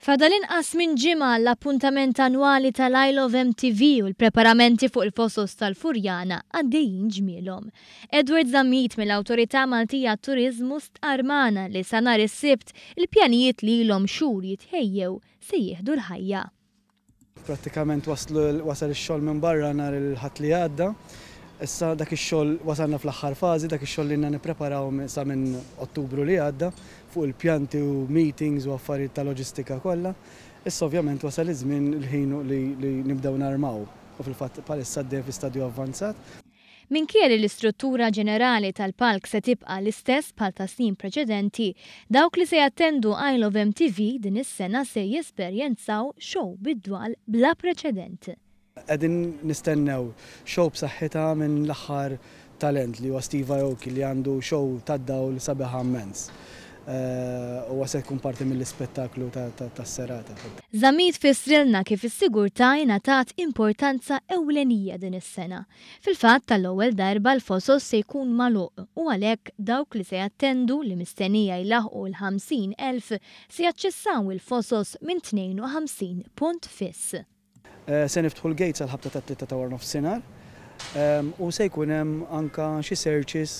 Fadal inqas minn ġimgħa għall-appuntament annwali tal-Isle of MTV u l-preparamenti fuq il-Fosos tal-Furjana għaddejjin ġmielhom. Edward Zammit mill-Awtorità Maltija għat-Turiżmu stqarr magħna li sa nhar is-Sibt il-pjanijiet li ilhom xhur jitħejjew se jieħdu l-ħajja. Prattikament waslu wasal ix-xogħol minn barra nhar il-Ħadd li għadda. Issa dak ix-xogħol wasalna fl-aħħar fażi, dak ix-xogħol li ilna nippreparaw sa minn Ottubru li għadda fuq il-pjanti u meetings u affarijiet ta' loġistika kollha. Issa ovvjament wasal iż-żmien il-ħin li nibdew narmaw u fil-fatt bħalissa għaddejja fi stadju avvanzat. Minkejja li l-istruttura ġenerali tal-palk se tibqa' l-istess bħal ta' snin preċedenti, dawk li se jattendu Isle of MTV din is-sena se jesperjenzaw show bid-dwal bla preċedent. Qegħdin nistennew show b'saħħitha minn l-aħħar talent li huwa Steve Aoki li għandu show tad-dawl sabiħa immens. Huwa se jkun parti mill-ispettaklu tas-serata. Zammit fissrilna kif is-sigurtà ingħatat importanza ewlenija din is-sena. Fil-fatt, għall-ewwel darba l-Fosos se jkun magħluq u għalhekk dawk li se jattendu, li mistennija jlaħħqu l-50,000, se jaċċessaw il-Fosos minn 52 punt fiss. Se niftħu l-gates għall-ħabta tat-tlieta ta' waranofsinhar u se jkun hemm anke xi searches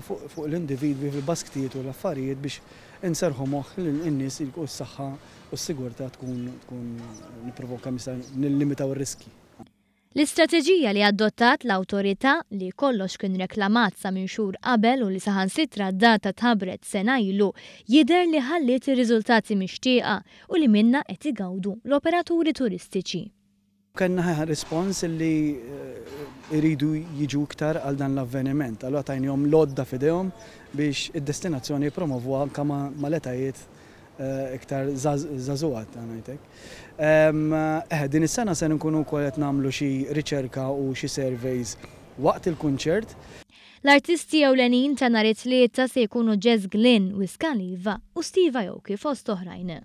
fuq l-individwi fil-basktijiet u l-affarijiet biex inserrħu moħħ in-nies u s-saħħa u s-sigurtà tkun tkun nippruvaw kemm jista' nillimitaw ir-riskji. L-istrateġija li adottat l-Awtorità, li kollox kien reklamat sa minn xhur qabel u li saħansitra d-data tħabbret sena ilu, jidher li ħalliet ir-riżultati mixtieqa u li minnha qed igawdu l-operaturi turistiċi. Kellna rispons li jridu jiġu iktar għal dan l-avveniment. Allura tajnihom l-għodda f'idejhom biex id-destinazzjoni jippromovuha anke mal-etajiet iktar żagħżugħa ngħid hekk. Eħe, din is-sena se nkunu wkoll qed nagħmlu xi riċerka u xi surveys waqt il-kunċert. L-artisti ewlenin ta' nhar it-Tlieta se jkunu Jess Glynne, Wiz Khalifa u Steve Aoki fost oħrajn.